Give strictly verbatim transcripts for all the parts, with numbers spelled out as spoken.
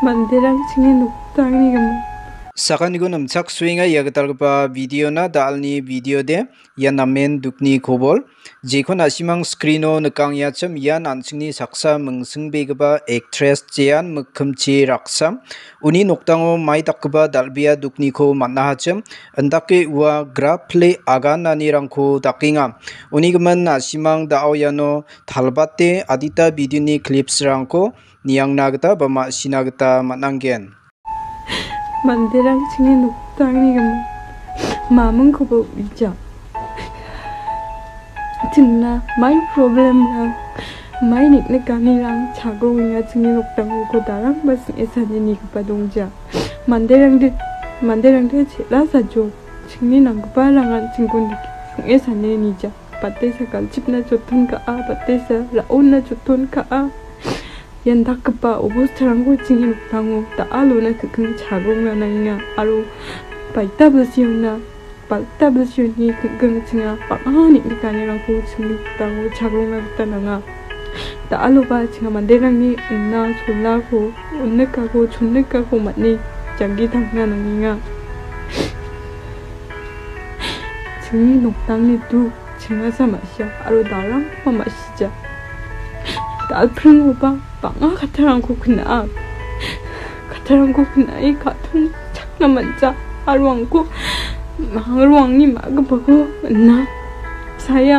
Manderang chingni noktangni gimin. Sakantikon nimchaksoenga ia gitalgipa videona, da·alni videode. Ia namen dukni kobol. Jekon na·simang screeno nikangengachi, ian an·chingni saksa mingsingbegipa actress Jean Mikkimchi Raksam. Uni nokdango mai dakgipa dal·bea dukniko man·ahachim, indake ua grap pile agananirangko dakenga. Uni gimin na·simang da·o iano talbate adita videoni clipsrangko niangna gita ba ma·sina gita man·angen. Manderang chingni noktangni gimin mamingkoba u·ija. Chingna mai problemrang, mai niknikanirang chagroenga chingni nokdango uko darangba sing·e sane nigipa dongja. Manderangde, manderangde chel·a sajo. Chingni nanggiparangan chingkon dike sing·e sane nija. Batesa galchipna joton ka·a, batesa ra·ona joton ka·a. Ian dakgipa obostarangko chingni nokdango da·alona king·king chagrongna nangenga aro baita bilsiona, baita bilsioni king·king chinga bang·a niknikanirangko chingni nokdango chagrongna gita nanga. Da·aloba chinga manderangni ina solako, on·nikako, chon·nikako man·e janggi tangna nangenga. Chingni nokdangni duk chingasa ma·sia aro darangba ma·sija. Dalpringoba bang·a kattarangko kna·a. Kattarangko kna·e ka·tongchakna man·ja aro angko, aro angni ma·gipako on·a. Saya,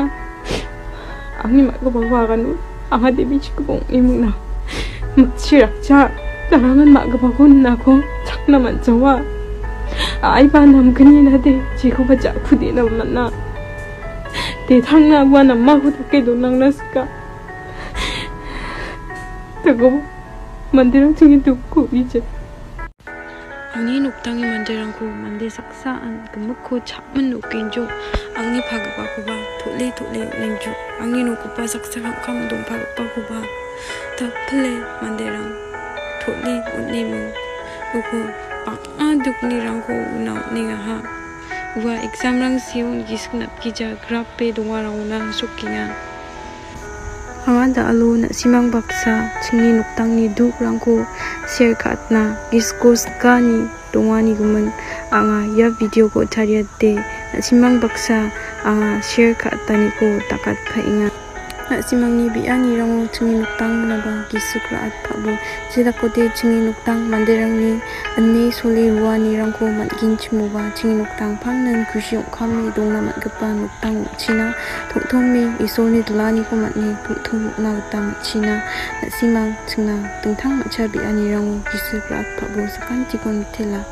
angni ma·gipako agano anga debichikoba ong·e mingna. Mikchi rakja, narangan ma·gipako ninako chakna man·jawa. Aiba namgnina de, jekoba ja·kudena man·a. De tangna ua namako dake donangna sika. Tago manderang chingni dukko u·ija. Angni noktangni manderangko mande saksa an gimikko cha·min okenjok, angni pagipakoba tole tole on·enjok, angni nokgipa saksa kam·kam dongpagipakoba tapile manderang tole on·eming. Uko bang·a duknirangko una on·engaha. Ua examrang seon gisik natgija grape dongarangona sokenga. Anga da·alo na·simang baksa chingni noktangni dukrangko share ka·atna gisiko sikani donganigimin anga ia videoko tariate na·simang baksa anga share ka·ataniko dakatpaenga. Na·simangni be·anirango chingni noktangba gisik ra·atpabo jedakode chingni noktang manderangni ine sole roanirangko man·genchimoba chingni noktang pangnan kusi ong·kame dongna man·gipa noktang ong·china. Tongtome Isolni dilaniko man·e tongtong rikna gita man·china. Na·simang chingna dingtang mancha be·anirango gisik ra·atpabo sakantikon mitela.